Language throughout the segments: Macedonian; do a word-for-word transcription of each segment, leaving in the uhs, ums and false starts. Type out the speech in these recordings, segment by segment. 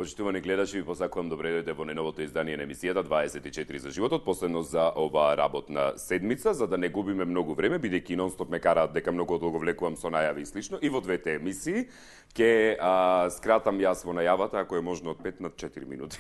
Почитувани гледачи, ви посакувам добре дојдете во најновото издание на емисијата дваесет и четири за животот, последно за оваа работна седмица, за да не губиме многу време, бидејќи нонстоп ме караат дека многу долго влекувам со најави и слично, и во двете емисии ќе а, скратам јас во најавата, ако е можно од пет на четири минути.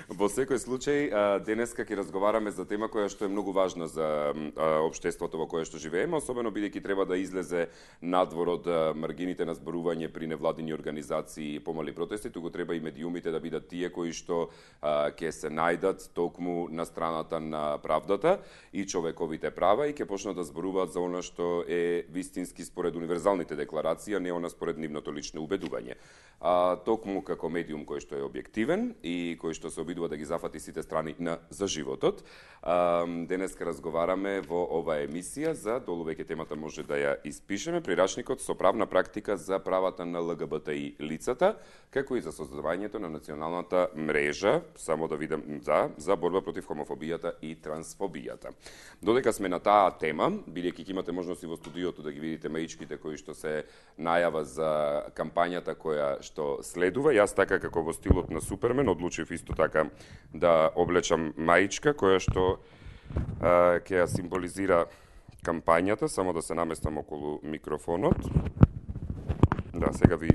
Во секој случај, а, денеска ќе разговараме за тема која што е многу важна за а, општеството во кое што живееме, особено бидејќи треба да излезе надвор од а, маргините на зборување при невладини организации и помали протести, туку треба и медиумите да бидат тие кои што а, ќе се најдат токму на страната на правдата и човековите права и ќе почнат да зборуваат за она што е вистински според универзалните декларации, а не она според нивното лично убедување. А, токму како медиум кој што е објективен и кој што се обидува да ги зафати сите страни на за животот. А, денеска разговараме во оваа емисија за, долу веќе темата може да ја испишеме, прирачникот со правна практика за правата на ЛГБТИ лицата, како и за создавањето на националната мрежа, само да видам за, за борба против хомофобијата и трансфобијата. Додека сме на таа тема, бидејќи имате можност и во студиото да ги видите маичките кои што се најава за кампањата која што следува, јас така како во стилот на Супермен одлучив исто така да облечам маичка која што а, ќе ја символизира кампањата, само да се наместам околу микрофонот. Да, сега ви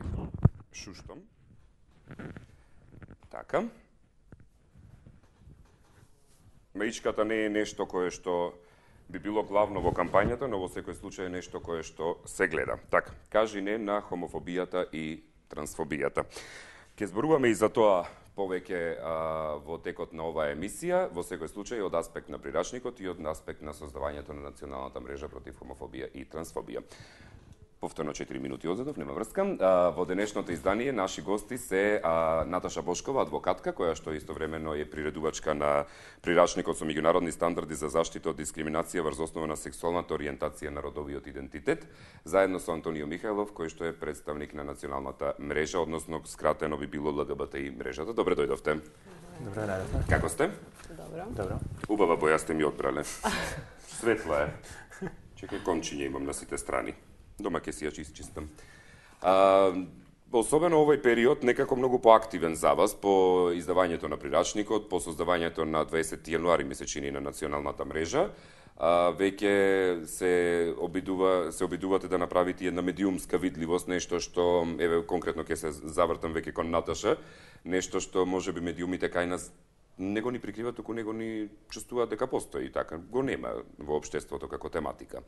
шуштам. Така. Маичката не е нешто кое што би било главно во кампањата, но во секој случај е нешто кое што се гледа. Така, кажи не на хомофобијата и трансфобијата. Ке зборуваме и за тоа повеќе а, во текот на оваа емисија, во секој случај од аспект на прирачникот и од аспект на создавањето на националната мрежа против хомофобија и трансфобија. Повторно четири минути одзадов, нема врска. А, во денешното издание наши гости се а, Наташа Бошкова, адвокатка, која што истовремено е приредувачка на прирачникот со меѓународни стандарди за заштита од дискриминација врз основа на сексуалната ориентација на родовиот идентитет, заедно со Антонио Михајлов, кој што е представник на националната мрежа, односно скратено би било ЛГБТИ мрежата. Добре дојдовте. Добре дојдовте. Како сте? Добро. Добро. Убава боја сте ми одбрале. Светла е. Чекај, кончиња имам на сите страни. Дома ќе си ја чистам. А, особено овој период некако многу поактивен за вас по издавањето на прирачникот, по создавањето на дваесети јануари месечини на националната мрежа. А, веќе се обидува се обидувате да направите една медиумска видливост, нешто што еве конкретно ќе се завртам веќе кон Наташа, нешто што можеби медиумите кај нас не го ни прикриват, туку него ни чувствуваат дека постои, така го нема во општеството како тематика.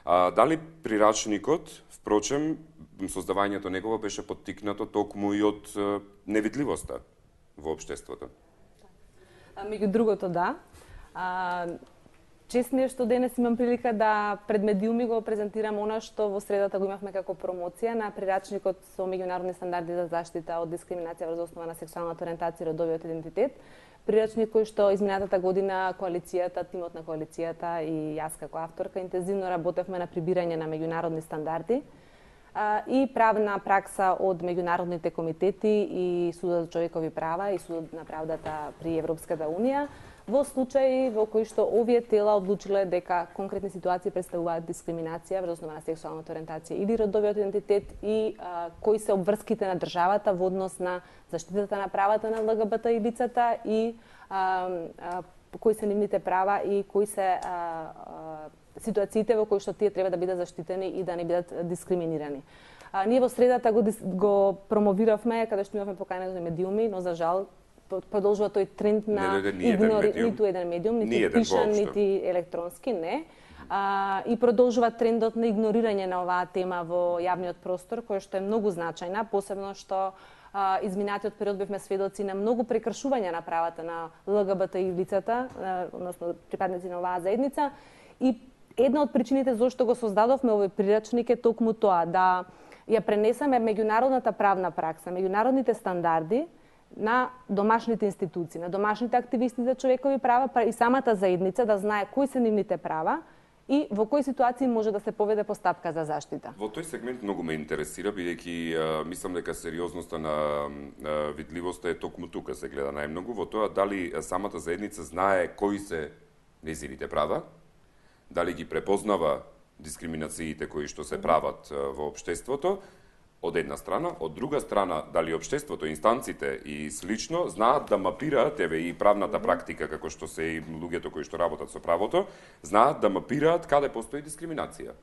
А, дали прирачникот, впрочем, создавањето негово беше поттикнато токму и од невидливоста во општеството? Меѓу другото, да. А, чест ми е што денес имам прилика да пред медиуми го презентирам она што во средата го имавме како промоција на прирачникот со меѓународни стандарди за заштита од дискриминација врз основа на сексуалната ориентација и родовиот идентитет. Прирачник кој што изминатата година коалицијата, тимот на коалицијата и јас како авторка интензивно работевме на прибирање на меѓународни стандарди а, и правна пракса од меѓународните комитети и Судот за човекови права и Судот на правдата при Европската унија во случаи во кои што овие тела одлучиле дека конкретни ситуации представуваат дискриминација врз основа на сексуалната ориентација или родовиот идентитет и а, кои се обврските на државата во однос на заштитата на правата на ЛГБТ и лицата и а, а, кои се нивните права и кои се а, а, ситуациите во кои што тие треба да бидат заштитени и да не бидат дискриминирани. А, ние во средата го, го промовиравме каде што имавме покањени медиуми, но за жал продолжува тој тренд на игнори, ниту еден медиум, ниту пишан, нити електронски, не. А, и продолжува трендот на игнорирање на оваа тема во јавниот простор, која што е многу значајна, посебно што а, изминатиот период бевме сведоци на многу прекршување на правата на ЛГБТ и лицата, а, односно припадници на оваа заедница. И една од причините зашто го создадовме овој прирачник е токму тоа, да ја пренесеме меѓународната правна пракса, меѓународните стандарди на домашните институции, на домашните активисти за човекови права, па и самата заедница да знае кои се нивните права и во кои ситуации може да се поведе постапка за заштита. Во тој сегмент многу ме интересира, бидејќи мислам дека сериозноста на а, видливоста е токму тука се гледа најмногу, во тоа дали самата заедница знае кои се незините права, дали ги препознава дискриминациите кои што се прават во општеството, од една страна, од друга страна, дали општеството, инстанците и слично знаат да мапираат, еве и правната практика, како што се и луѓето кои што работат со правото, знаат да мапираат каде постои дискриминација.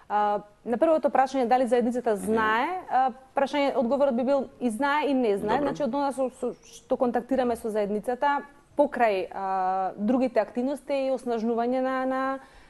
А, на првото прашање дали заедницата знае, а, прашање одговорот би бил и знае и не знае. Добро. Значи од она со, со, што контактираме со заедницата, покрај а, другите активности и оснажнување на, на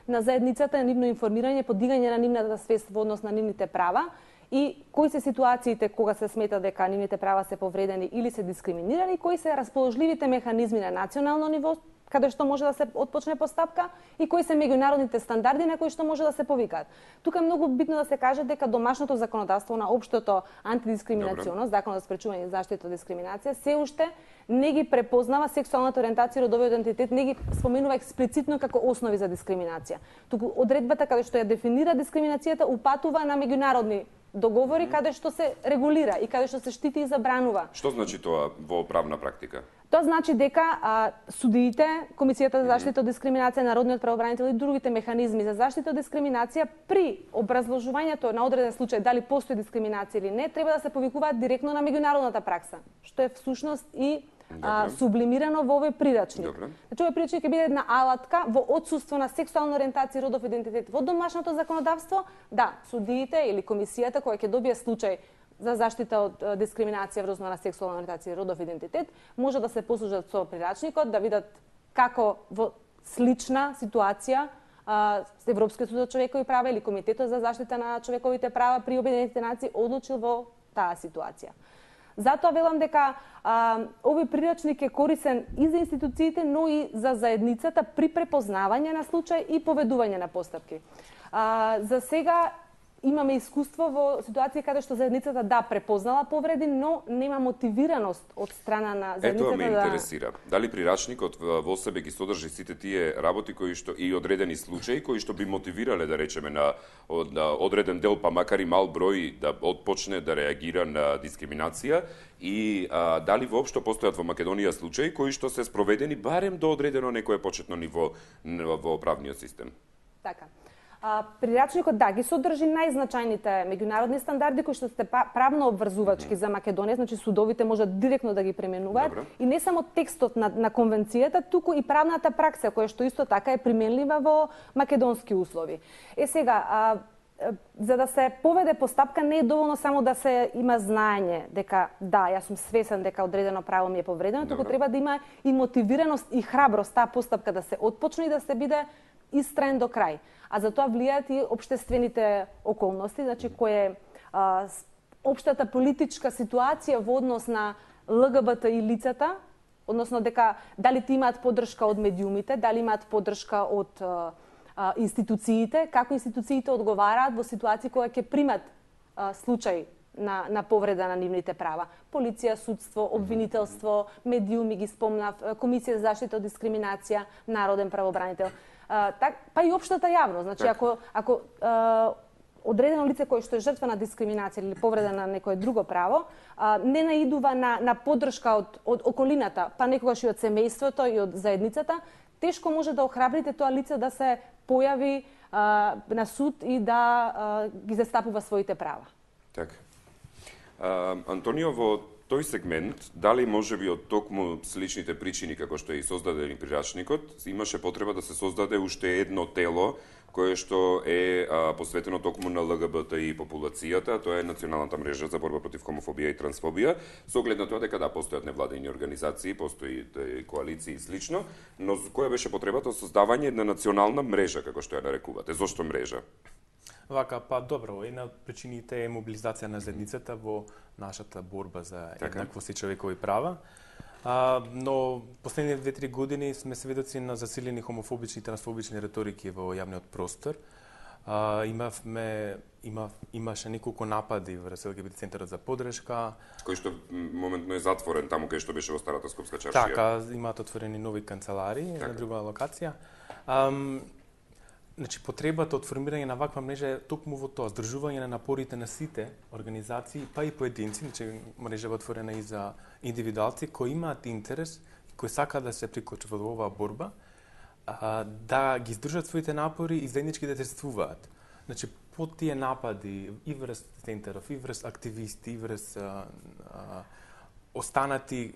на заедницата, на нивно информирање, подигање на нивната свест во однос на нивните права и кои се ситуациите кога се смета дека нивните права се повредени или се дискриминирани, кои се расположливите механизми на национално ниво каде што може да се отпочне постапка и кои се меѓународните стандарди на кои што може да се повикаат. Тука е многу битно да се каже дека домашното законодавство на општото антидискриминационо, Законот за спречување и заштита од дискриминација, се уште не ги препознава сексуалната ориентација и родовиот идентитет, не ги споменува експлицитно како основи за дискриминација. Туку одредбата каде што ја дефинира дискриминацијата упатува на меѓународни договори каде што се регулира и каде што се штити и забранува. Што значи тоа во правна практика? Тоа значи дека а, судиите, Комисијата за заштита од дискриминација, Народниот правобранител и другите механизми за заштита од дискриминација при образложувањето на одреден случај дали постои дискриминација или не, треба да се повикуваат директно на меѓународната пракса, што е всушност и а, сублимирано во овој прирачник. Добре. Значи овој прирачник ќе биде една алатка во отсуство на сексуална ориентација и родов идентитет во домашното законодавство, да, судиите или комисијата која ќе добие случај за заштита од дискриминација врз на сексуална ориентација и родов идентитет, може да се послужат со прирачникот, да видат како во слична ситуација а, Европскиот суд за човекови права или Комитетот за заштита на човековите права при Обединетите нации одлучил во таа ситуација. Затоа велам дека а, овој прирачник е корисен и за институциите, но и за заедницата при препознавање на случај и поведување на постапки. А, за сега имаме искуство во ситуации каде што заедницата да препознала повреди, но нема мотивираност од страна на заедницата. Ето ме да... интересира. Дали прирачникот во себе ги содржи сите тие работи кои што и одредени случаи кои што би мотивирале да речеме на, на одреден дел, па макар и мал број да отпочне да реагира на дискриминација и а, дали воопшто постојат во Македонија случаи кои што се спроведени барем до одредено некое почетно ниво во правниот систем? Така. А, прирачникот да ги содржи најзначајните меѓународни стандарди кои што се правно обврзувачки mm -hmm. за Македонија, значи судовите можат директно да ги пременуваат. Добре. И не само текстот на, на конвенцијата, туку и правната пракса која што исто така е применлива во македонски услови. Е сега, а, за да се поведе постапка не е доволно само да се има знаење дека да, јас сум свесен дека одредено право ми е повредено, туку треба да има и мотивираност и храброст таа постапка да се отпочне и да се биде истраен до крај. А за тоа влијаат и општествените околности, значи кој е а, општата политичка ситуација во однос на Л Г Б Т и лицата, односно дека дали ти имаат поддршка од медиумите, дали имаат поддршка од а, а, институциите, како институциите одговараат во ситуации кога ќе примат а, случај на, на повреда на нивните права. Полиција, судство, обвинителство, медиуми ги спомнав, Комисија за заштита од дискриминација, Народен правобранител. А, так, па и општата јавност. Значи, ако, ако а, одредено лице кое што е жртва на дискриминација или повреда на некое друго право, а, не наидува на, на поддршка од, од околината, па некогаш и од семејството и од заедницата, тешко може да охрабрите тоа лице да се појави а, на суд и да а, ги застапува своите права. Така. А, Антонио, во тој сегмент, дали може би од токму сличните причини како што е и создаден прирачникот, имаше потреба да се создаде уште едно тело кое што е а, посветено токму на Л Г Б Т и популацијата, тоа е Националната мрежа за борба против хомофобија и трансфобија, со оглед на тоа дека да постојат невладени организации, постои коалиции и слично, но која беше потребата од создавање на национална мрежа, како што ја нарекувате? Зошто мрежа? Вака, па добро, една од причините е мобилизација на заедницата во нашата борба за еднаквост и човекови права. А, но последните две-три години сме сведоци на засилени хомофобични и трансфобични реторики во јавниот простор. А, имавме, има, имаше неколку напади врз Л Г Б Т центарот за поддршка, кој што моментно е затворен таму кај што беше во старата скопска чаршија. Така, имаат отворени нови канцелари така. На друга локација. Ам, Значи, потребата од формирање на ваква мрежа е токму во тоа, здржување на напорите на сите организации, па и поединци, значи мрежа е отворена и за индивидуалци кои имаат интерес, кои сакаат да се приклучат во оваа борба, а, да ги здржат своите напори и заеднички да действуваат. Значи, по тие напади и врз центаров, и врз активисти, и врз а, а, останати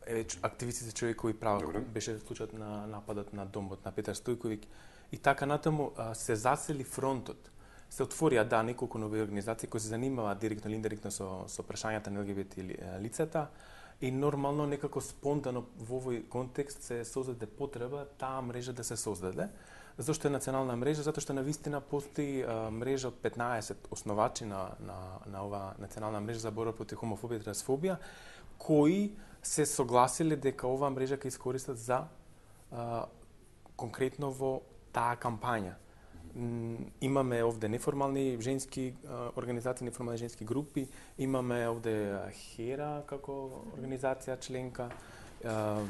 е, активисти за човекови права, Добре. беше случајот на нападот на домот на Петар Стојковиќ, и така натаму а, се засели фронтот. Се отворија, да, неколку нови организации кои се занимаваат директно или индиректно со, со прашањата на Ел Ге Би Те лицата, и нормално, некако спонтано во овој контекст се создаде потреба таа мрежа да се создаде. Зошто е национална мрежа? Затоа што навистина постои а, мрежа од петнаесет основачи на, на, на оваа национална мрежа за борба против хомофобија и трансфобија, кои се согласиле дека оваа мрежа ќе искористат за а, конкретно во таа кампања. Имаме овде неформални женски а, организации, неформални женски групи, имаме овде Хера како организација членка, а,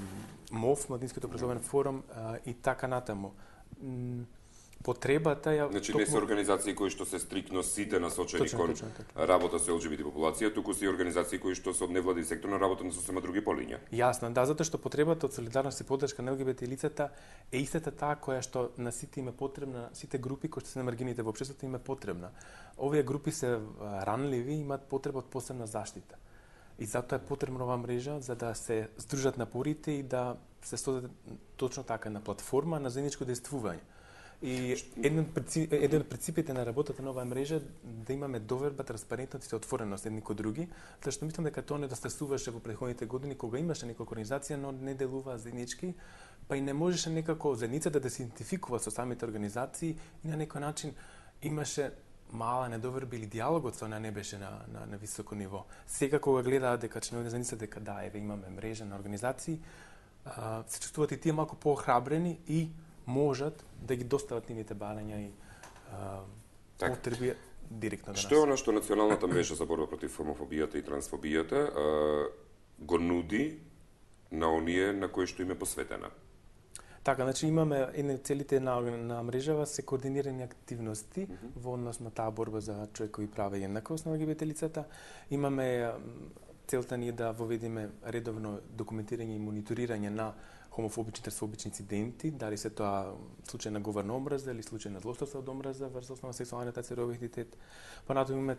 МОВ, Младинскиот образовен форум а, и така натаму. Потребата ја... Значи токму... не се организации кои што се стрикно сите насочени Точно, кон точно, така. работа со Ел Ге Би Те популација, туку се и организации кои што се од невладин сектор на работа на сосема други полиња. Јасно, да, затоа што потребата од солидарност и поддршка на Ел Ге Би Те лицата е истата таа која што на сите им е потребна, сите групи кои што се на маргините во општеството им е потребна. Овие групи се ранливи и имаат потреба од посебна заштита. И затоа е потребна оваа мрежа за да се здружат напорите и да се создаде точно така една платформа на заедничко действување. И еден од принци... еден од принципите на работата на оваа мрежа е да имаме доверба, транспарентност и отвореност едни кон други, зашто мислам дека тоа недостасуваше во претходните години кога имаше неколку организација, но не делуваа заеднички, па и не можеше некако заедницата да се идентификува со самите организации и на некој начин имаше мала недоверба или диалогот со неа не беше на, на, на високо ниво. Сега кога гледаат дека членови на заедницата дека да, еве имаме мрежа на организации, а, се чувствуваат и тие малку поохрабрени и можат да ги достават нивните барања и а, Так. потреби директно до нас. Што е она што националната мрежа за борба против хомофобијата и трансфобијата а, го нуди на оние на кои што им е посветена? Така, значи имаме едни целите на, на мрежава се координирани активности mm -hmm. во однос на таа борба за човекови права и еднаквост на Ел Ге Би Те лицата. Имаме целта ни е да воведеме редовно документирање и мониторирање на хомофобични, трансфобични инциденти, дали се тоа случај на говорна омраза или случај на злоставство од омраза врз основа на сексуална ориентација и родов идентитет. Понатаму имаме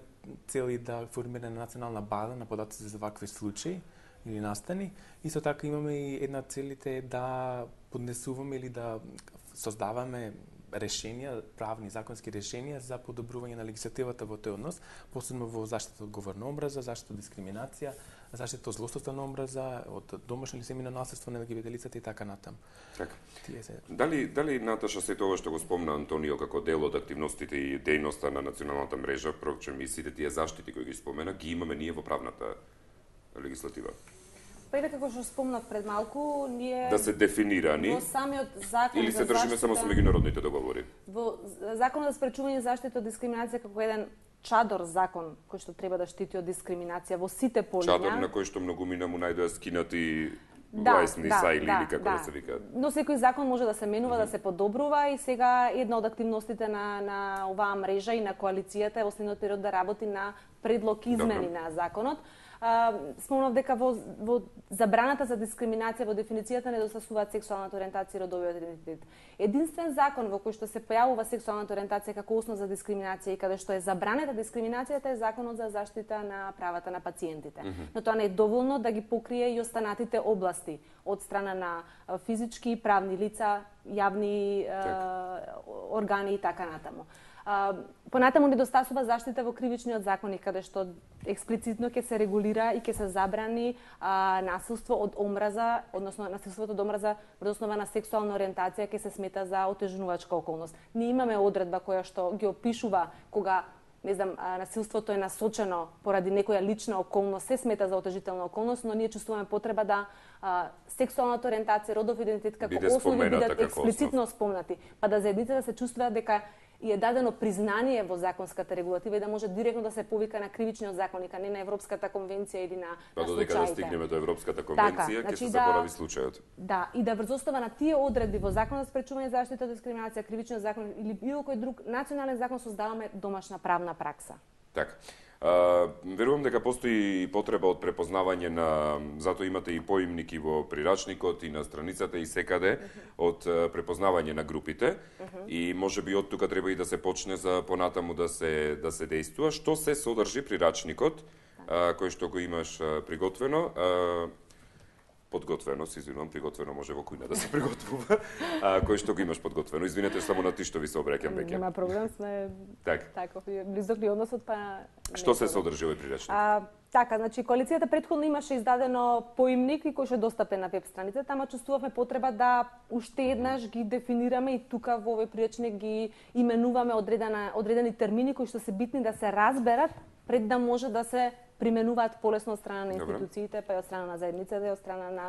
цели да формираме национална база на податоци за вакви случаи или настани. Исто така имаме и една целите да поднесуваме или да создаваме решенија, правни законски решенија за подобрување на легислативата во тој однос, посебно во заштита од говорна омраза, заштита од дискриминација, заштита од злоставство на омраза, од домашно или семејно насилство на Ел Ге Би Те лицата и така натаму. Така. Се... Дали дали Наташа сето ова што го спомна Антонио како дел од активностите и дејноста на националната мрежа, впрочем и сите тие заштити кои ги спомена, ги имаме ние во правната легислатива? Па и како што спомнав пред малку, ние да се дефинирани во самиот закон или за се држиме заштита, само со меѓународните договори? Во законот за спречување и заштита од дискриминација како еден чадор закон кој што треба да штити од дискриминација во сите полиња. Чадор на кој што многумина му најдоа скинати да, лајсни да, са или, да, или како да. да се вика. Но секој закон може да се менува, mm -hmm. да се подобрува и сега една од активностите на на оваа мрежа и на коалицијата е во следниот период да работи на предлог измени Добре. на законот. Uh, спомнав дека во, во забраната за дискриминација во дефиницијата недостасуваат сексуалната ориентација и родовиот идентитет. Единствен закон во кој што се појавува сексуалната ориентација како основа за дискриминација и каде што е забранета дискриминацијата е законот за заштита на правата на пациентите. Mm -hmm. Но тоа не е доволно да ги покрие и останатите области од страна на физички и правни лица, јавни uh, органи и така натаму. Uh, понатаму недостасува заштита во кривичниот законник, каде што експлицитно ќе се регулира и ќе се забрани uh, насилство од омраза, односно насилството од омраза врз основа на сексуална ориентација ќе се смета за отежнувачка околност. Ние имаме одредба која што ги опишува кога не знам, насилството е насочено поради некоја лична околност, се смета за отежителна околност, но ние чувствуваме потреба да а, сексуалната ориентација, родов идентитет како основи бидат експлицитно спомнати, па да заедницата се чувствува дека и е дадено признание во законската регулатива и да може директно да се повика на кривичниот законник, а не на Европската конвенција или на, па на случаите. Па додека да стигнеме до Европската конвенција, така, ќе значи се да, заборави случајот. Да, и да врз основа на тие одредби во Законот за спречување и заштита од дискриминација, кривичниот закон или било кој друг национален закон создаваме домашна правна пракса. Така. А, верувам дека постои потреба од препознавање на, затоа имате и поимник и во прирачникот и на страницата и секаде, од препознавање на групите, и можеби од тука треба и да се почне за понатаму да се да се дејствува. Што се содржи прирачникот, а, кој што го имаш а, приготвено? А, подготвено, се извинувам, приготвено може во кујна да се приготвува, а, кој што го имаш подготвено. Извинете, само на ти што ви се обраќам веќе. Нема проблем, сме так. таков близок ли односот, па... Што се содржи овој прирачник? А, така, значи, коалицијата претходно имаше издадено поимник и кој што е достапен на веб страницата, тама чувствувавме потреба да уште еднаш ги дефинираме и тука во овој прирачник ги именуваме одредена, одредени термини кои што се битни да се разберат пред да може да се применуваат полесно од страна на институциите, па и од страна на заедницата и од страна на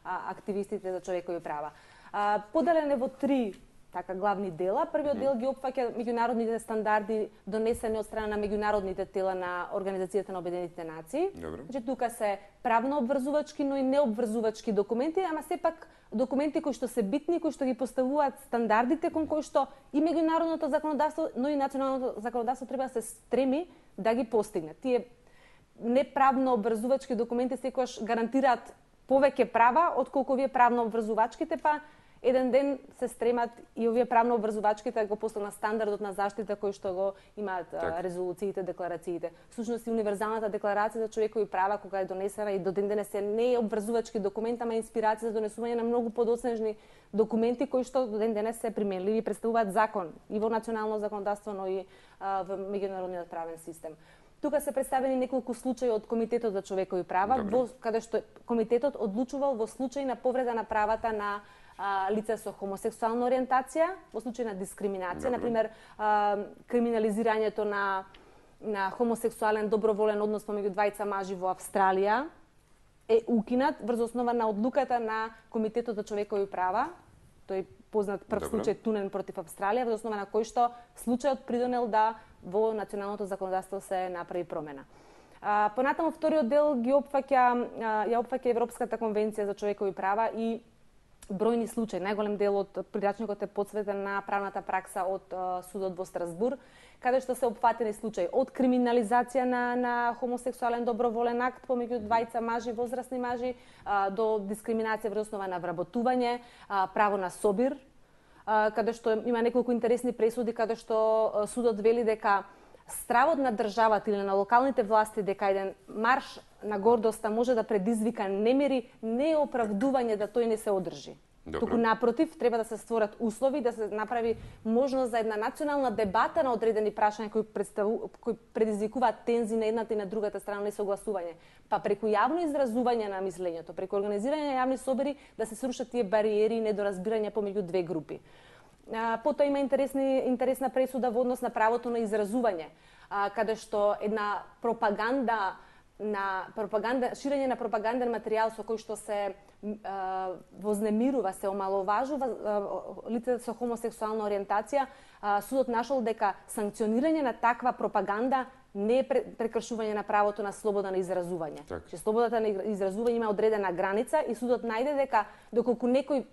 а, активистите за човекови права. А, поделен е во три така главни дела. Првиот дел ги опфаќа меѓународните стандарди донесени од страна на меѓународните тела на Организацијата на Обединетите нации. Значи тука се правно обврзувачки, но и необврзувачки документи, ама сепак документи кои што се битни, кои што ги поставуваат стандардите кон кои што и меѓународното законодавство, но и националното законодавство треба да се стреми да ги постигне. Тие неправно обврзувачки документи секогаш гарантираат повеќе права отколку овие правно обврзувачките, па еден ден се стремат и овие правно обврзувачките да го постават на стандардот на заштита кој што го имаат так. резолуциите, декларациите. Всушност и универзалната декларација за човекови права кога е донесена и до ден денес е не е обврзувачки документ, ама инспирација за донесување на многу подоцнежни документи кои што до ден денес се применливи и представуваат закон и во национално законодавство, но и а, во меѓународниот правен систем. Тука се представени неколку случаи од Комитетот за човекови права, во, каде што комитетот одлучувал во случај на повреда на правата на а, лица со хомосексуална ориентација, во случај на дискриминација, на пример криминализирањето на на хомосексуален доброволен однос помеѓу двајца мажи во Австралија е укинат врз основа на одлуката на Комитетот за човекови права. Тој познат прв Добре. случај Тунен против Австралија, врз основа на кој што случајот придонел да во националното законодавство се направи промена. А, понатаму вториот дел ги опфаќа ја опфаќа Европската конвенција за човекови права и бројни случаи. Најголем дел од прирачникот е посветен на правната пракса од а, судот во Страсбург, каде што се опфатени случаи од криминализација на на хомосексуален доброволен акт помеѓу двајца мажи, возрастни мажи, а, до дискриминација врз основа на вработување, а, право на собир, а, каде што има неколку интересни пресуди каде што а, судот вели дека стравот на државата или на локалните власти дека еден марш на гордоста може да предизвика немири, не е оправдување да тој не се одржи. Добре. Туку напротив, треба да се створат услови, да се направи можност за една национална дебата на одредени прашања кои, представу, кои предизвикуваат тензи на едната и на другата страна несогласување. Па преку јавно изразување на мислењето, преку организирање на јавни собери да се срушат тие бариери и недоразбирања помеѓу две групи. А, потоа има интересни, интересна пресуда во однос на правото на изразување, а, каде што една пропаганда на пропаганда, ширење на пропаганден материјал со кој што се а, вознемирува, се омаловажува лице со хомосексуална ориентација, а, судот нашол дека санкционирање на таква пропаганда не е прекршување на правото на слобода на изразување. Так. Че слободата на изразување има одредена граница и судот најде дека доколку некој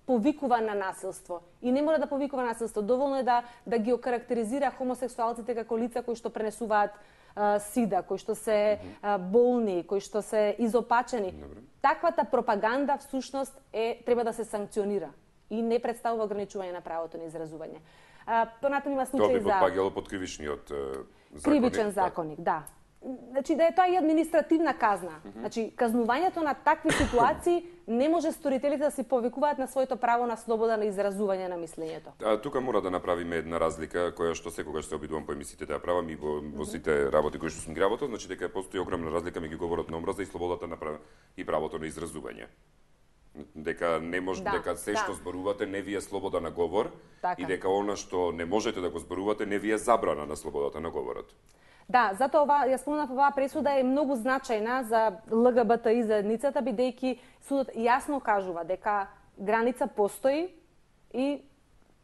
повикува на насилство и не мора да повикува насилство, доволно е да да ги окарактеризира хомосексуалците како лица кои што пренесуваат а, сида, кои што се а, болни, кои што се изопачени. Добре. Таквата пропаганда всушност е треба да се санкционира и не представува ограничување на правото на изразување. А, понатаму има случаи за Тоа би попаѓало под кривичниот законник. Кривичен законник, да. Значи да е тоа и административна казна. Mm -hmm. Значи казнувањето на такви ситуации не може сторителите да се повикуваат на своето право на слобода на изразување на мислењето. А, тука мора да направиме една разлика која што секогаш се обидувам по емисиите да ја правам и во, во сите работи кои што сум ги работел, значи дека постои огромна разлика меѓу говорот на омраза и слободата на прав... и правото на изразување. Дека не може да, дека се да. што зборувате не ви е слобода на говор така. И дека она што не можете да го зборувате не ви е забрана на слободата на говорот. Да, затоа ова, ја спомнав, оваа пресуда е многу значајна за Л Г Б Т И заедницата, бидејќи судот јасно кажува дека граница постои и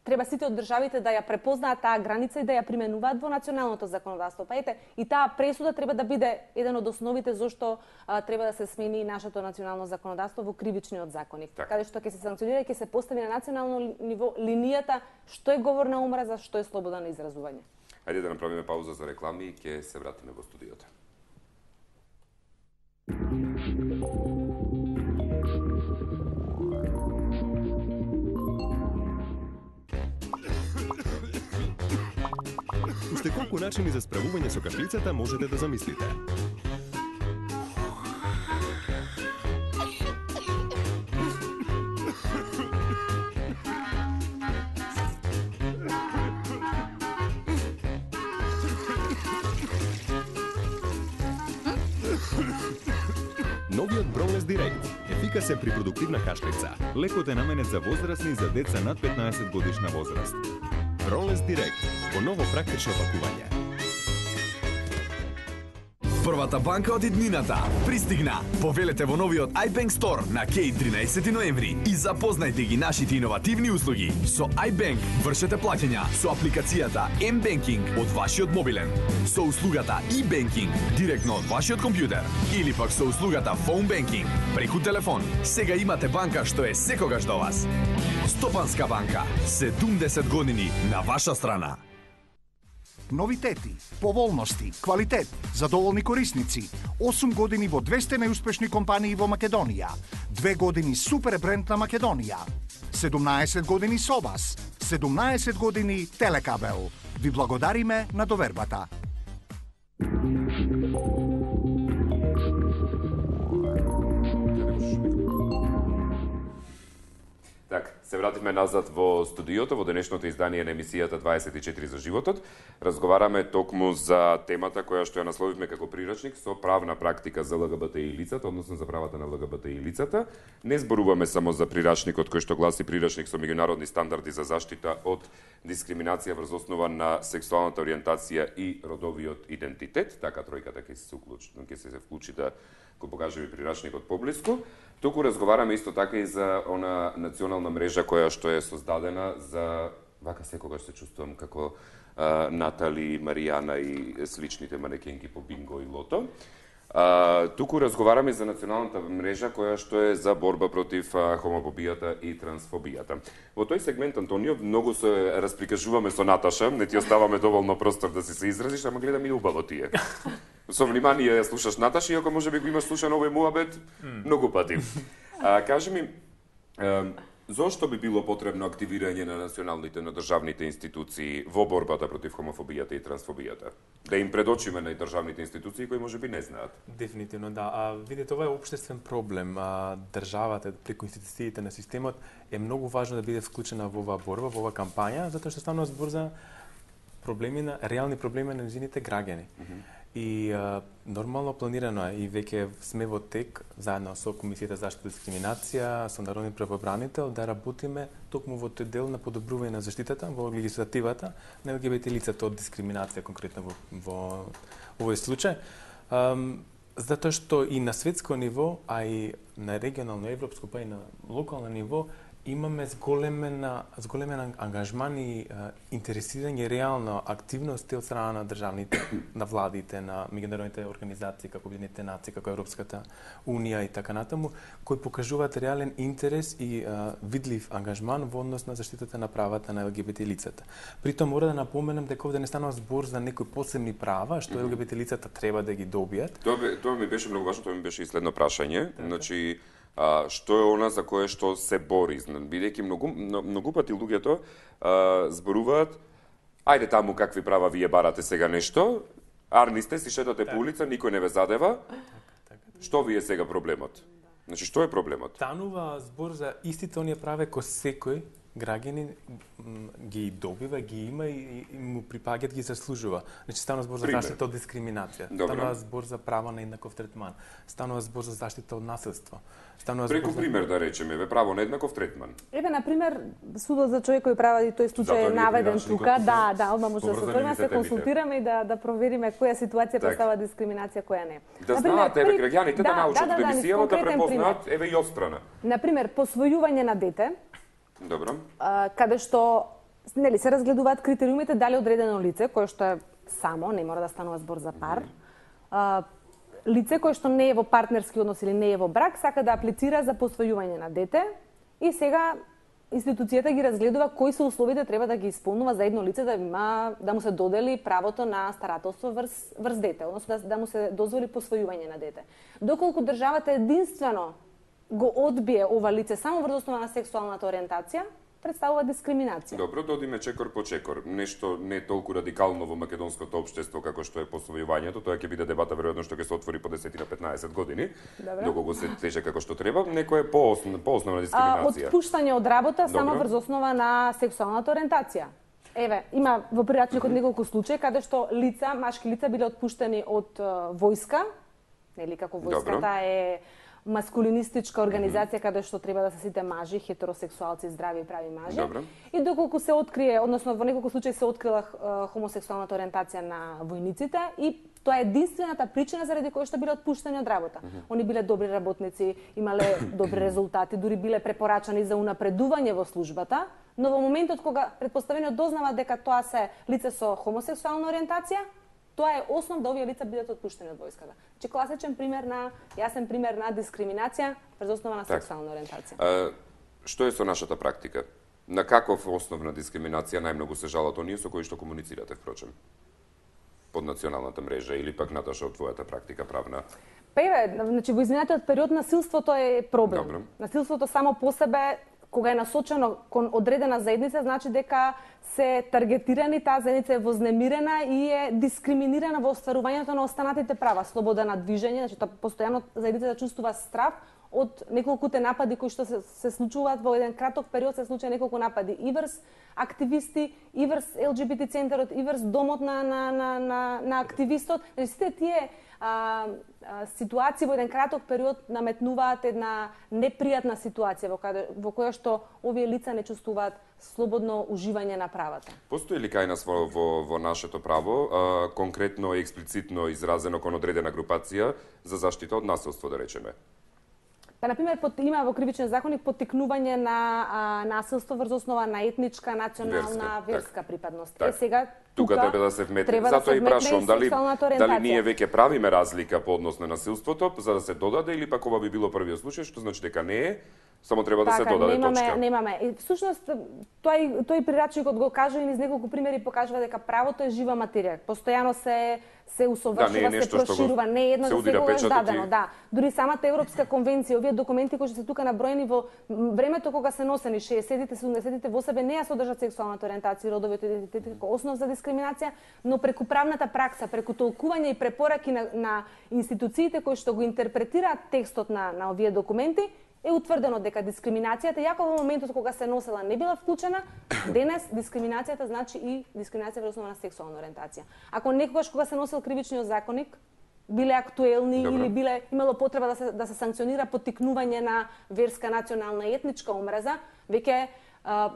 треба сите од државите да ја препознаат таа граница и да ја применуваат во националното законодавство. Па ете, и таа пресуда треба да биде еден од основите зашто а, треба да се смени нашето национално законодавство во кривичниот законник, так. Каде што ќе се санкционира и ќе се постави на национално ниво линијата што е говор на омраза, што е слобода на изразување. Ајде да направиме пауза за реклами и ќе се вратиме во студиото. Уште колку начини за справување со кашлицата можете да замислите. Новиот Бронлес Директ ефикасен при продуктивна кашлица. Лекот е наменет за возрастни и за деца над петнаесет годишна возраст. Бронлес Директ во ново практично пакување. Првата банка од иднината пристигна. Повелете во новиот iBank Store на Кеј тринаесети ноември и запознајте ги нашите иновативни услуги. Со iBank вршете плаќања со апликацијата M-Banking од вашиот мобилен, со услугата e-Banking директно од вашиот компјутер или пак со услугата Phone Banking преку телефон. Сега имате банка што е секогаш до вас. Стопанска банка, седумдесет години на ваша страна. Новитети, поволности, квалитет, задоволни корисници, осум години во двесте најуспешни компании во Македонија, две години супер бренд на Македонија, седумнаесет години со вас, седумнаесет години Телекабел. Ви благодариме на довербата. Так, се вративме назад во студиото, во денешното издание на емисијата дваесет и четири за животот. Разговараме токму за темата која што ја насловивме како прирачник со правна практика за ЛГБТИ лицата, односно за правата на ЛГБТИ лицата. Не зборуваме само за прирачникот кој што гласи прирачник со меѓународни стандарди за заштита од дискриминација врз основа на сексуалната ориентација и родовиот идентитет. Така тројката ќе се вклучи, ќе се вклучи да го покаже ви прирачникот поблиску. Туку разговараме исто така и за она национална мрежа која што е создадена за, вака секогаш се чувствувам како а, Натали, Маријана и сличните манекенки по бинго и лото. А, туку разговараме за националната мрежа која што е за борба против а, хомофобијата и трансфобијата. Во тој сегмент, Антонио, многу се расприкажуваме со Наташа, не ти оставаме доволно простор да си се изразиш, ама гледам и убаво ти е. Со внимание ја слушаш Наташа, иако може би го имаш слушан овој муабет mm. многу пати. А, кажи ми, а, зошто би било потребно активирање на националните, на државните институции во борбата против хомофобијата и трансфобијата? Да им предочиме на државните институции кои може би не знаат. Дефинитивно, да. А, видите, ова е општествен проблем. А, државата, преку институциите на системот, е многу важно да биде вклучена во оваа борба, во оваа кампања, затоа што станува збор за проблеми на, реални проблеми на незините граѓани. Mm -hmm. И а, нормално планирано е и веќе сме во тек заедно со Комисијата за заштита и дискриминација, со Народни правобранител да работиме токму во тој дел на подобрување на заштитата во легислативата на ЛГБТ лицата од дискриминација конкретно во, во овој случај. Um, затоа што и на светско ниво, а и на регионално, европско, па и на локално ниво имаме зголемен, зголемен ангажман и а, интересирање реално активности од страна на државните, на владите, на меѓународните организации, како Обединетите нации, како Европската унија и така натаму, кои покажуваат реален интерес и а, видлив ангажман во однос на заштитата на правата на ЛГБТ лицата. Притом мора да напоменам дека овде не станува збор за некои посебни права што ЛГБТ лицата треба да ги добијат. Тоа, тоа ми беше многу важно, тоа ми беше и следно прашање. Така. Значи, А, што е она за кое што се бори, бидејќи многу многу пати луѓето а, зборуваат, ајде таму какви права вие барате сега нешто, арни сте, си шетате по улица, никој не ве задева. Што ви е сега проблемот? Значи, што е проблемот? Станува збор за истите оние права кои секој граѓанин ги добива, ги има и, и му припаѓаат, ги заслужува. Значи станува збор за заштита од дискриминација, Добре. станува збор за право на еднаков третман, станува збор за заштита од насилство. Станува Преку збор пример за... да речеме, ве право на еднаков третман. Еве на пример судот за човекови права и тој случај е наведен тука, да, да, одма може да се отвориме, се консултираме и да да провериме која ситуација представува дискриминација, која не. Да знаат еве граѓаните да, да научат да, да, да, емисијава да препознаат еве и острана. На пример, посвојување на дете. Добро. А, каде што нели се разгледуваат критериумите дали одредено лице кое што е само, не мора да станува збор за пар. А, лице кое што не е во партнерски однос или не е во брак, сака да аплицира за посвојување на дете и сега институцијата ги разгледува кои се условите треба да ги исполнува за едно лице да има да му се додели правото на старателство врз врз дете, односно да, да му се дозволи посвојување на дете. Доколку државата единствено го одбие ова лице само врз основа на сексуалната ориентација, представува дискриминација. Добро, додиме чекор по чекор. Нешто не толку радикално во македонското општество како што е посвојувањето, тоа ќе биде дебата веројатно што ќе се отвори по десет на петнаесет години. Доколку се тече како што треба, некој е по-основна по основна дискриминација. А, отпуштање од работа Добро. само врз основа на сексуалната ориентација. Еве, има во прирачникот неколку случаи каде што лица, машки лица биле отпуштени од uh, војска, нели како војската Добро. е маскулинистичка организација каде што треба да се сите мажи, хетеросексуалци, здрави и прави мажи. Добро. И доколку се открие, односно во неколку случаи се открила uh, хомосексуалната ориентација на војниците и тоа е единствената причина заради која што биле отпуштени од работа. Mm -hmm. Они биле добри работници, имале добри резултати, дури биле препорачани за унапредување во службата, но во моментот кога претпоставено дознава дека тоа се лице со хомосексуална ориентација, тоа е основ да овие лица бидат отпуштени од војската. Значи класичен пример на јасен пример на дискриминација врз основа на так. сексуална ориентација. А, што е со нашата практика? На каков основ на дискриминација најмногу се жалат оние со кои што комуницирате, впрочем? Под националната мрежа или пак Наташа од твојата практика правна? Па еве, значи во изминатиот период насилството е проблем. Добро. Насилството само по себе кога е насочено кон одредена заедница, значи дека се таргетирани, таа заедница е вознемирена и е дискриминирана во остварувањето на останатите права, слобода на движење, значи тоа постојано заедницата чувствува страв од неколкуте напади кои што се, се случуваат во еден краток период, се случува неколку напади и врз активисти, и врз Ел Џи Би Ти центарот, и врз домот на на на на, на активистот. Значи сите тие а, а, ситуации во еден краток период наметнуваат една непријатна ситуација во, каде, во која што овие лица не чувствуваат слободно уживање на правата. Постои ли кај нас во, во, во нашето право, а, конкретно и експлицитно изразено кон одредена групација за заштита од насилство, да речеме? Па, например, под, има во кривичниот законник поттикнување на а, насилство врз основа на етничка, национална, верска, верска так. припадност. Так. Е, сега, Тука, тука треба да се вметне. треба Затоа да и се вметне прашувам и дали сексуалната дали ориентација. ние веќе правиме разлика по однос на насилството за да се додаде или пак ова би било првиот случај, што значи дека не е, само треба да така, се додаде немаме, точка. Немаме. И всушност тој тој прирачникот го кажува и низ неколку примери покажува дека правото е жива материја. Постојано се се усовршува, да, се проширува, не е едно за секогаш дадено, и... да. Дури самата Европска конвенција, овие документи кои што се тука наброени во времето кога се носени шеесеттите, седумдесеттите во себе не ја содржат сексуалната ориентација и родовиот идентитет како основ за дискриминација, но преку правната пракса, преку толкување и препораки на, на институциите кои што го интерпретираат текстот на на овие документи, е утврдено дека дискриминацијата, јако во моментот кога се носела не била вклучена, денес дискриминацијата значи и дискриминација во основа на сексуална ориентација. Ако некогаш кога се носел кривичниот законник, биле актуелни Добро. или биле имало потреба да се да се санкционира поттикнување на верска, национална и етничка омраза, веќе а,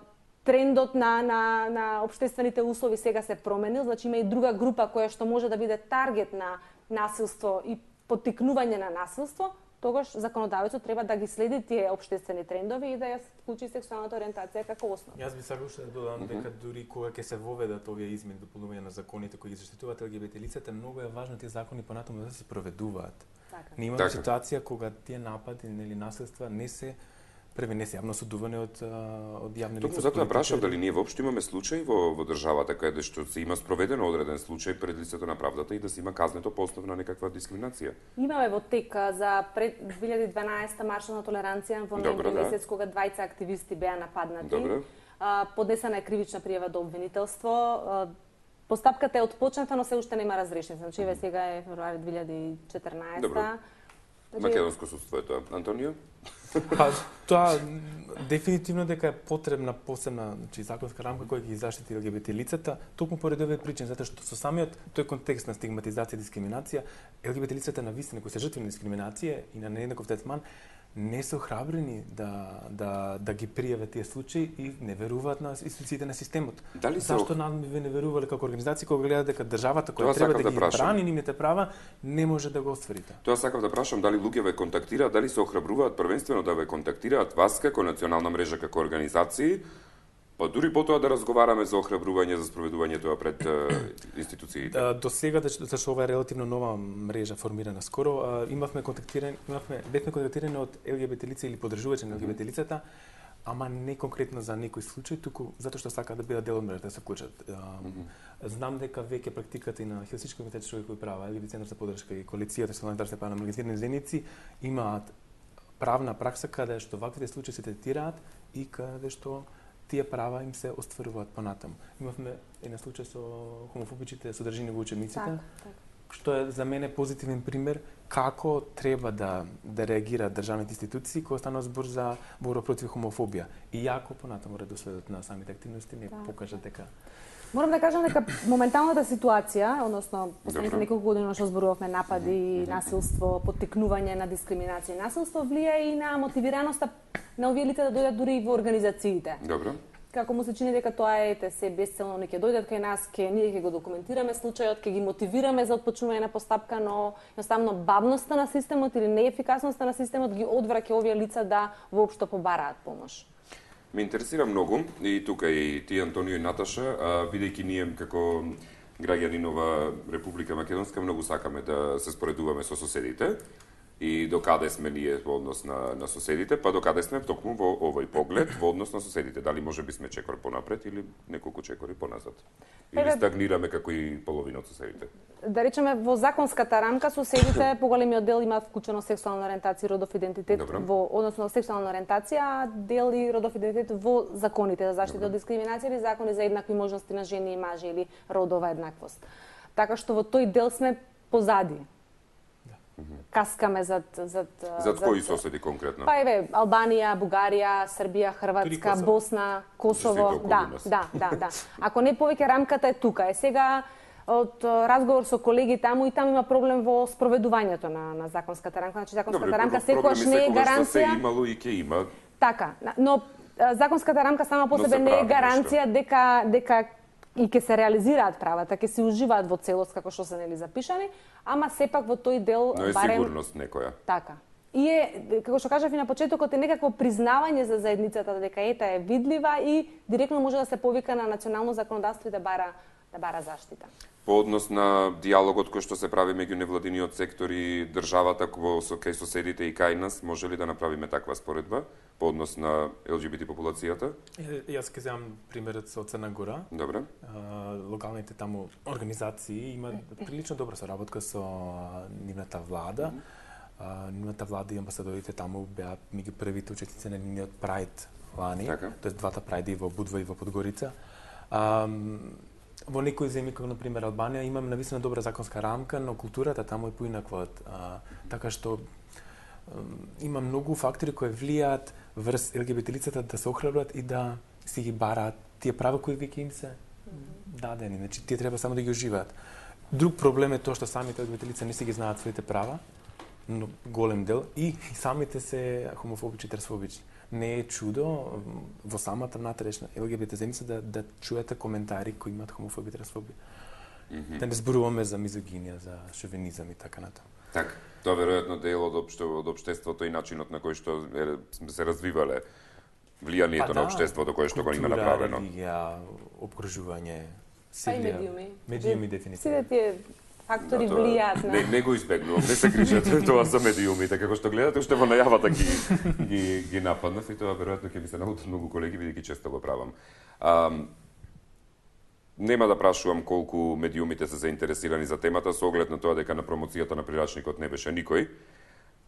трендот на на на општествените услови сега се променил, значи има и друга група која што може да биде таргет на насилство и поттикнување на насилство. Тогаш законодавецот треба да ги следи тие општествени трендови и да ја вклучи сексуалната ориентација како основа. Јас би сакал уште да додам дека дури кога ќе се воведат овие измени дополнување на законите кои ги заштитуваат Ел Ге Би Те лицата, многу е важно тие закони понатаму да се проведуваат. Така. Ние имаме Така. ситуација кога тие напади или насилства не се преве се јавно судуване од од јавни лица. Токму затоа прашав дали ние воопшто имаме случаи во во државата каде што се има спроведено одреден случај пред лицето на правдата и да се има казнето по основа на некаква дискриминација. Имаме во тек за пред две илјади и дванаесета маршот на толеранција во ноември да. месец кога двајца активисти беа нападнати. Добро. А, поднесена е кривична пријава до обвинителство. А, постапката е отпочната, но се уште нема разрешен. Значи еве сега е февруари две илјади и четрнаесета. Добро. Значи, Македонско судство е тоа. Антонио? Па, тоа дефинитивно дека е потребна посебна, значи законска рамка која ги заштити Ел Ге Би Те лицата, токму поради овие причини, затоа што со самиот тој контекст на стигматизација и дискриминација, Ел Ге Би Те лицата на вистина кои се жртви на дискриминација и на нееднаков третман не се охрабрени да да да ги пријават тие случаи и не веруваат на институциите на системот. Дали се Зашто ох... нам ви не верувале како организација кога гледаат дека државата Тоа која треба сакав да да ги прашам. брани нивните права не може да го оствари тоа? Тоа сакав да прашам дали луѓе ве контактираат, дали се охрабруваат првенствено да ве контактираат вас како национална мрежа, како организации, па дури потоа да разговараме за охрабрување за спроведување тоа пред е, институциите. А, до сега, зашто ова е релативно нова мрежа формирана скоро, а, имавме контактирани, имавме бевме контактирани од Ел Ге Би Те лица или поддржувачи на Ел Ге Би Те лицата, ама не конкретно за некој случај, туку затоа што сакаат да бидат дел од мрежата, да се вклучат. Mm-hmm. Знам дека веќе практиката и на Хелсински комитет за човекови права, или Центар за поддршка и коалицијата за солидарност на маргинализирани заедници имаат правна пракса каде што ваквите случаи се третираат и каде што тие права им се остваруваат понатаму. Имавме една случај со хомофобичните содржини во учебниците, Так, так. што е за мене позитивен пример како треба да да реагираат државните институции кога станува збор за борба против хомофобија. И јако понатаму редоследот на самите активности не Так. покажа дека Морам да кажам дека моменталната ситуација, односно последните неколку години што зборувавме напади, насилство, поттикнување на дискриминација и насилство влија и на мотивираноста на овие лица да дојдат дури и во организациите. Добро. Како му се чини дека тоа е те се бесцелно не ќе дојдат кај нас, ќе ние ќе го документираме случајот, ќе ги мотивираме за отпочнување на постапка, но едноставно бавноста на системот или неефикасноста на системот ги одвраќа овие лица да воопшто побараат помош. Ме интересира многу и тука и ти, Антонио и Наташа, а, бидејќи ние како граѓани нова Република Македонска многу сакаме да се споредуваме со соседите и докаде сме ние во однос на, на соседите, па докаде сме токму во овој поглед во однос на соседите. Дали може би сме чекор понапред или неколку чекори поназад? Или Еве, стагнираме како и половина од соседите? Да речеме, во законската рамка соседите поголемиот дел имаат вклучено сексуална ориентација и родов идентитет Добро. во односно сексуална ориентација, а дел и родов идентитет во законите за заштита од дискриминација или закони за еднакви можности на жени и мажи или родова еднаквост. Така што во тој дел сме позади. Каскаме зад зад Зад кои соседи конкретно? Па еве Албанија, Бугарија, Србија, Дури Хрватска, Косово. Босна, Косово, Сите околу да, нас. да, да, да. Ако не повеќе рамката е тука. Е сега од а, разговор со колеги таму и таму има проблем во спроведувањето на на законската рамка. Значи законската Добре, рамка проблеми секогаш не е секогаш се гаранција. имало и ќе има. Така, но а, законската рамка сама по Но себе се не е прави гаранција дека дека и ќе се реализираат правата, ќе се уживаат во целост како што се нели запишани, ама сепак во тој дел Но е барем сигурност некоја. така. И е, како што кажав и на почетокот, е некакво признавање за заедницата дека ета е видлива и директно може да се повика на национално законодавство и да бара да бара заштита. По однос на диалогот кој што се прави меѓу невладиниот сектор и државата во со кај соседите и кај нас, може ли да направиме таква споредба по однос на Ел Џи Би Ти популацијата? Е, јас ќе земам примерот со Црна Гора. Добре. А, локалните таму организации имаат прилично добра соработка со а, нивната влада. А, нивната влада и амбасадорите таму беа меѓу првите учесници на нивниот Прайд лани, Така. тоест двата Прайди во Будва и во Подгорица. А, во некои земји, како например Албанија, имаме навистина добра законска рамка, но културата таму е поинаква. А, така што има многу фактори кои влијаат врз Ел Ге Би Те лицата да се охрабрат и да си ги бараат тие права кои веќе им се дадени. Значи, тие треба само да ги уживаат. Друг проблем е тоа што самите Ел Ге Би Те лица не си ги знаат своите права, но голем дел, и самите се хомофобични, трансфобични. Не е чудо во самата натрешна Ел Ге Би Те заедница да, да чуете коментари кои имаат хомофобија, трансфобија. Mm-hmm. Да не зборуваме за мизогинија, за шовинизам и така натаму. Така. Тоа веројатно дел од општо од општеството и начинот на кој што е, се развивале влијанието на општеството кое што го има направено. Религија, обкружување, Па и силија, медиуми. медиуми Сите дефинитивно. тие фактори Да, тоа- влијаат на Не, не го избегнувам, не се грижете тоа за медиумите, како што гледате, уште во најавата ги, ги, ги нападнав и тоа веројатно ќе ми се наутат многу колеги, бидејќи често го правам. А, нема да прашувам колку медиумите се заинтересирани за темата, со оглед на тоа дека на промоцијата на прирачникот не беше никој.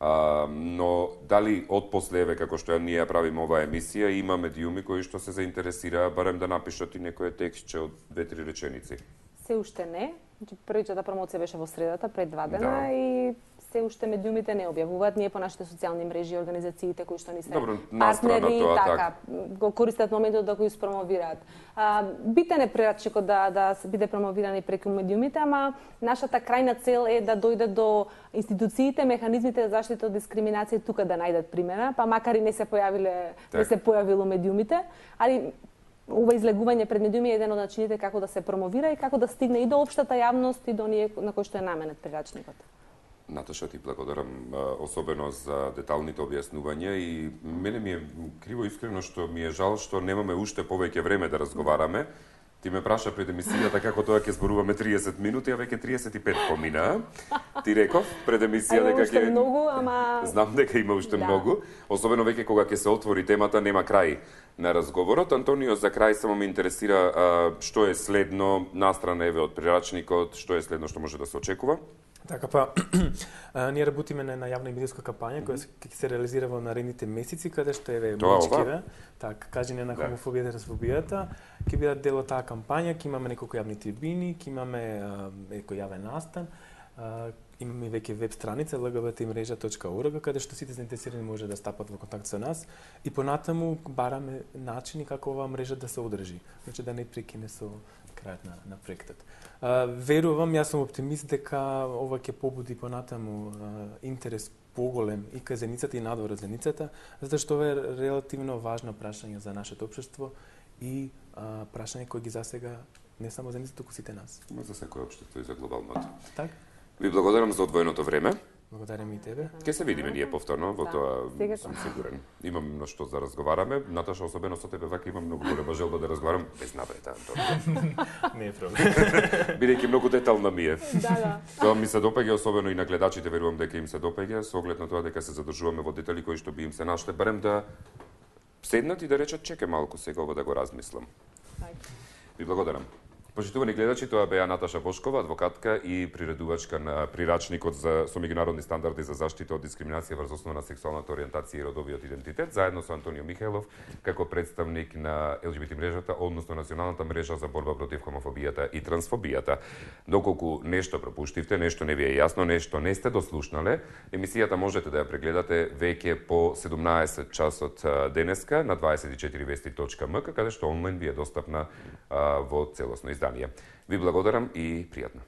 А, но дали од последве, како што ние ја правиме оваа емисија, има медиуми кои што се заинтересираа барем да напишат и некој текстче од две-три реченици? се уште не. Значи првичата промоција беше во средата пред два дена Да. и се уште медиумите не објавуваат. Ние по нашите социјални мрежи, организациите кои што ни се Добро, настрана партнери, тоа, така, го користат моментот да го испромовираат. А, битен е прерачникот да да се биде промовиран и преку медиумите, ама нашата крајна цел е да дојде до институциите, механизмите за заштита од дискриминација тука да најдат примера, па макар и не се појавиле, Так. не се појавило медиумите, али ова излегување пред медиуми е еден од начините како да се промовира и како да стигне и до општата јавност и до оние на кои што е наменет прирачникот. Наташа, ти благодарам а, особено за деталните објаснувања и мене ми е криво искрено што ми е жал што немаме уште повеќе време да разговараме, Ти ме праша пред емисијата како тоа ќе зборуваме триесет минути, а веќе триесет и пет помина. Ти реков пред емисија дека ќе многу, ама знам дека има уште да. многу, особено веќе кога ќе се отвори темата, нема крај на разговорот. Антонио, за крај само ме интересира а, што е следно настрана еве од прирачникот, што е следно што може да се очекува? Така па, ние работиме на, на јавна и медијска кампања која ќе се реализира во наредните месеци, каде што еве мачкиве, така, кажење на хомофобијата и трансфобијата, ќе бидат дел од таа кампања, ќе имаме неколку јавни трибини, ќе имаме некој јавен настан, а, имаме веќе веб страница ел ге би те мрежа точка орг каде што сите заинтересирани може да стапат во контакт со нас и понатаму бараме начини како оваа мрежа да се одржи, значи да не прекине со крајот на, на проектот. Uh, верувам, јас сум оптимист дека ова ќе побуди понатаму uh, интерес поголем и кај заедницата и надвор од заедницата, затоа што ова е релативно важно прашање за нашето општество и uh, прашање кој ги засега не само заедницата, туку сите нас. Но за секој општество и за глобалното. Так. Ви благодарам за одвоеното време. Благодарам и тебе. Ке се видиме ние повторно, во да, тоа сега сум сигурен. Имам на што за разговараме. Наташа, особено со тебе вака имам многу голема желба да разговарам без наврета, Антон. Не е проблем. Бидејќи многу детална ми е. Да, да. Тоа ми се допаѓа, особено и на гледачите, верувам дека им се допаѓа, со оглед на тоа дека се задржуваме во детали кои што би им се нашле, барем да седнат и да речат чекај малку сега ова да го размислам. Ви благодарам. Почитувани гледачи, тоа беа Наташа Бошкова, адвокатка и приредувачка на прирачникот за со меѓународни стандарди за заштита од дискриминација врз основа на сексуалната ориентација и родовиот идентитет, заедно со Антонио Михајлов како представник на ел ге би те мрежата, односно Националната мрежа за борба против хомофобијата и трансфобијата. Доколку нешто пропуштивте, нешто не ви е јасно, нешто не сте дослушнале, емисијата можете да ја прегледате веќе по седумнаесет часот денеска на дваесет и четири вести точка ем ка, каде што онлайн ви е достапна а, во целосно издание. Ви благодарам и пријатно.